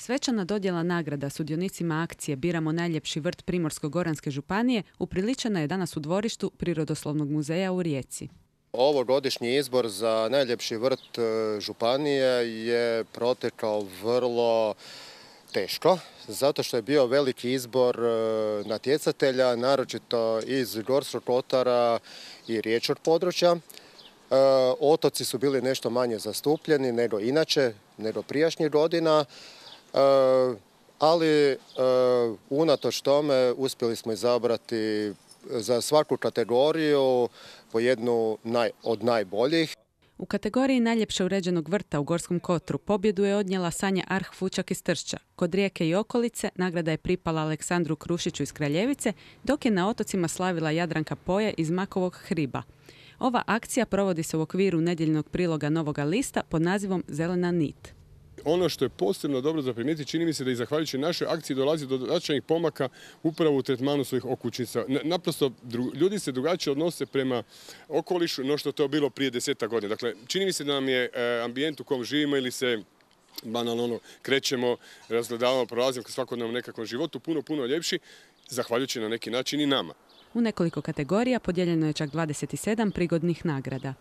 Svečana dodjela nagrada sudionicima akcije Biramo najljepši vrt Primorsko-goranske županije upriličena je danas u dvorištu Prirodoslovnog muzeja u Rijeci. Ovogodišnji izbor za najljepši vrt županije je protekao vrlo teško, zato što je bio veliki izbor natjecatelja, naročito iz Gorskog kotara i riječkog područja. Otoci su bili nešto manje zastupljeni nego inače, nego prijašnjih godina, ali unatoč tome uspjeli smo izabrati za svaku kategoriju po jednu od najboljih. U kategoriji najljepše uređenog vrta u Gorskom kotru pobjedu je odnijela Sanja Arh-Fučak iz Tršća. Kod Rijeke i okolice nagrada je pripala Aleksandru Krušiću iz Kraljevice, dok je na otocima slavila Jadranka Poje iz Makovog Hriba. Ova akcija provodi se u okviru nedjeljnog priloga Novoga lista pod nazivom Zelena nit. Ono što je posebno dobro za primijetiti, čini mi se da i zahvaljujući našoj akciji dolazi do značajnih pomaka upravo u tretmanu svojih okućnica. Naprosto, ljudi se drugačije odnose prema okolišu no što to bilo prije 10 godina. Dakle, čini mi se da nam je ambijent u kom živimo ili se banalno krećemo, razgledavamo, prolazimo kroz svakodnevnom nekakvom životu puno ljepši, zahvaljujući na neki način i nama. U nekoliko kategorija podijeljeno je čak 27 prigodnih nagrada.